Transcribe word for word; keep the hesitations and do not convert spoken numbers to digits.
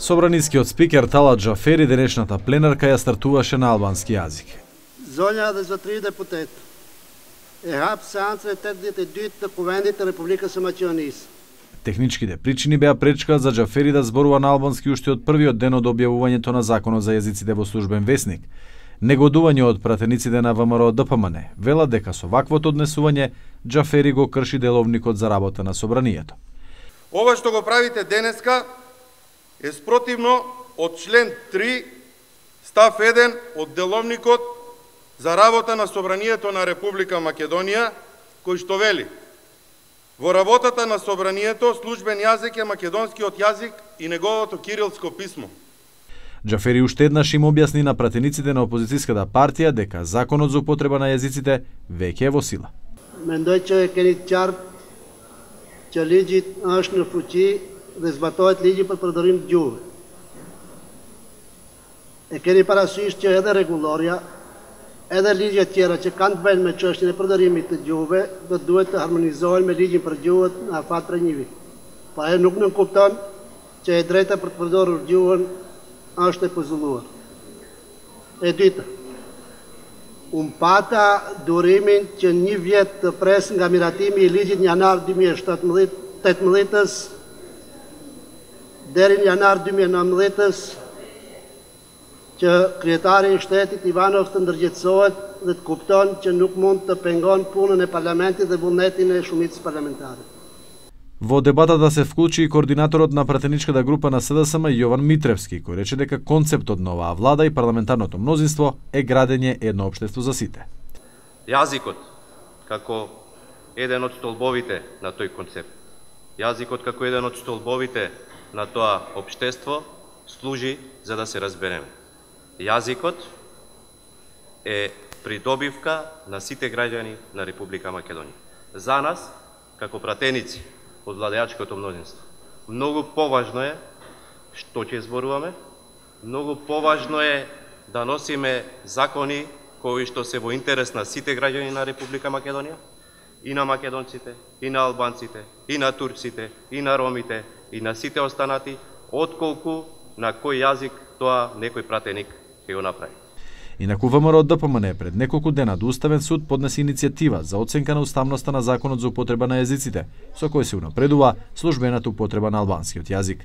Собранискиот спикер Талат Джафери денешната пленарка ја стартуваше на албански јазик. Zonja dhe zotëri deputet, e hap seancën e tetëdhjetë e dytë të Kuvendit të Republikës së Maqedonisë. Техничките причини беа пречка за Джафери да зборува на албански уште од првиот ден од објавувањето на Законот за јазиците во службен весник. Негодување од пратениците на ВМРО Д П М Н велат дека со ваквото однесување Джафери го крши деловникот за работа на собранието. Ова што го правите денеска е спротивно од член три став еден од деловникот за работа на собранието на Република Македонија, кој што вели: во работата на собранието службен јазик е македонскиот јазик и неговото кирилско писмо. Джафери уште еднаш им објасни на пратениците на опозицијската партија дека законот за употреба на јазиците веќе е во сила. Mendoj që e keni qartë që ligji është në fuqi dhe zbatohet ligji për përdorim të gjuhëve. E keni parasysh që edhe rregulloria, edhe ligjet tjera që kanë të bëjnë me çështjen e përdorimit të gjuhëve, do duhet të harmonizohen me ligjin për gjuhët në afat për një vit. Pa e nuk nuk kupton që e drejta për të përdorur gjuhën është e pozulluar. E dyta, unë pata durimin që një vjet të pres nga miratimi i ligjit në janar dy mijë e tetëmbëdhjetës deri në janar dy mijë e nëntëmbëdhjetës që kryetari i shtetit Ivanov të ndërgjegjësohet dhe të kupton që nuk mund të pengon punën e parlamentit dhe vullnetin e shumicës parlamentare. Во дебатата се вклучи и координаторот на пратеничката група на С Д С М Јован Митревски, кој рече дека концептот на оваа влада и парламентарното мнозинство е градење едно општество за сите. Јазикот како еден од столбовите на тој концепт, јазикот како еден од столбовите на тоа општество служи за да се разбереме. Јазикот е придобивка на сите граѓани на Република Македонија. За нас, како пратеници од владеачкото мнозинство, многу поважно е што ќе зборуваме, многу поважно е да носиме закони кои што се во интерес на сите граѓани на Република Македонија, и на македонците, и на албанците, и на турците, и на ромите, и на сите останати, отколку на кој јазик тоа некој пратеник ќе го направи. Инаку ВМРО Д П М Н пред неколку дена до Уставен суд поднесе иницијатива за оценка на уставноста на Законот за употреба на јазиците, со кој се унапредува службената употреба на албанскиот јазик.